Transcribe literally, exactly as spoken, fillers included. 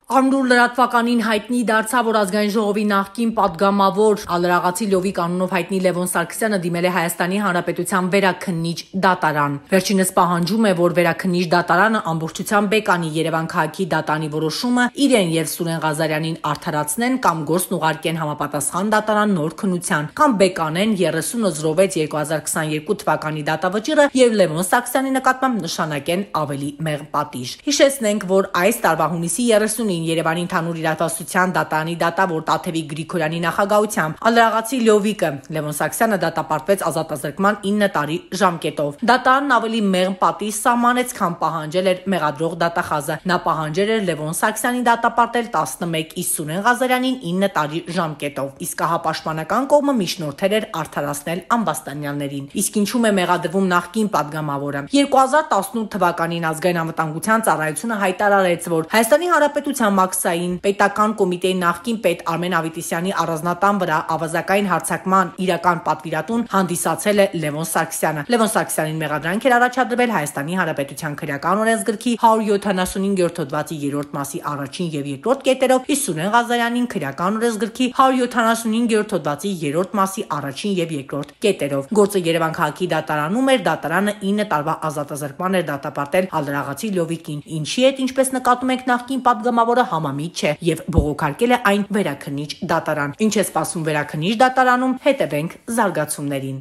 Արմնուր լրատվականին հայտնի դարձավ, որ ազգային ժողովի նախկին պատգամավոր Ալրաղացի Լովիկ անունով հայտնի Լևոն Սարգսյանը դիմել է Հայաստանի Հանրապետության վերաքննիչ դատարան։ Վերջինս պահանջում է, որ վերաքննիչ դատարանը ամբողջությամբ բեկանի Երևան քաղաքի դատանի որոշումը, իրեն եւ Սուրեն Ղազարյանին արդարացնեն կամ գործն ուղարկեն համապատասխան դատարան նոր քննության, կամ բեկանեն երեսուն զրովեց երկու հազար քսաներկու թվականի դատավճիռը եւ Լևոն Սարգսյանի նկատմամբ նշանակեն ավելի մեղմ պատիժ։ Հիշեցնենք, որ այս տարվա հունիսի երեսունին Երևանի ընդհանուր իրավասության դատարանի դատավոր Տաթևիկ Գրիգորյանի նախագահությամբ Ալրաղացի Լովիկը Լևոն Սարգսյանը դատապարտվեց ազատազրկման ինը տարի ժամկետով։ Դատարանն ավելի մեղմ պատիժ սահմանեց, քան պահանջել էր մեղադրող դատախազը։ Նա պահանջել էր Լևոն Սարգսյանին դատապարտել տասնմեկ, իսկ Սուրեն Ղազարյանին ինը տարի ժամկետով, իսկ հապաշտպանական կողմը միջնորդել էր արդարացնել ամբաստանյաններին։ Իսկ ինչու է մեղադրվում նախկին պատգամավորը։ երկու հազար տասնութ թվականին Ազգային անվտանգության ծառայությունը հայտարարեց, որ Հայաստանի Հանրապետության մաքսային պետական կոմիտեի նախկին պետ Արմեն Ավետիսյանի առանձնատան վրա ավազակային հարձակման իրական պատվիրատուն հանդիսացել է Լևոն Սարգսյանը։ Լևոն Սարգսյանին մեղադրանք էր առաջադրվել Հայաստանի Հանրապետության քրեական օրենսգրքի հարյուր յոթանասունհինգերորդ հոդվածի երրորդ մասի առաջին եւ երկրորդ կետերով, իսկ Սուրեն Ղազարյանին քրեական օրենսգրքի հարյուր յոթանասունհինգերորդ հոդվածի երրորդ մասի առաջին եւ երկրորդ կետերով։ Գործը Երևան քաղաքի դատարանում էր, դատարանը ինը տարվա ազատազրկման էր դատապարտել Ալրաղացի Լովիկին, ինչի հետ, ինչպես նկատում եք, նախկին պատգամավորը համամիտ չէ եւ բողոքարկել է այն վերաքննիչ դատարան։ Ինչ է սպասում վերաքննիչ դատարանում, հետևենք զարգացումներին։